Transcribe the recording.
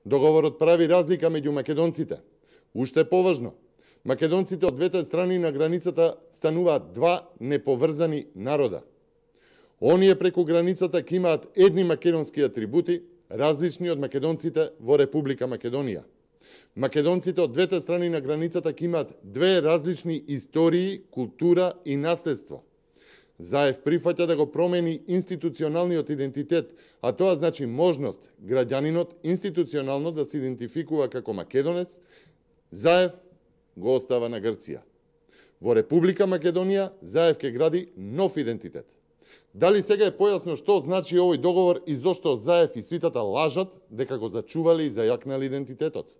Договорот прави разлика меѓу македонците. Уште поважно, македонците од двете страни на границата стануваат два неповрзани народа. Оние преку границата ќе имаат едни македонски атрибути, различни од македонците во Република Македонија. Македонците од двете страни на границата ќе имаат две различни истории, култура и наследство. Заев прифаќа да го промени институционалниот идентитет, а тоа значи можност граѓанинот институционално да се идентификува како македонец. Заев го остава на Грција. Во Република Македонија Заев ќе гради нов идентитет. Дали сега е појасно што значи овој договор и зошто Заев и свитата лажат дека го зачувале и зајакнале идентитетот?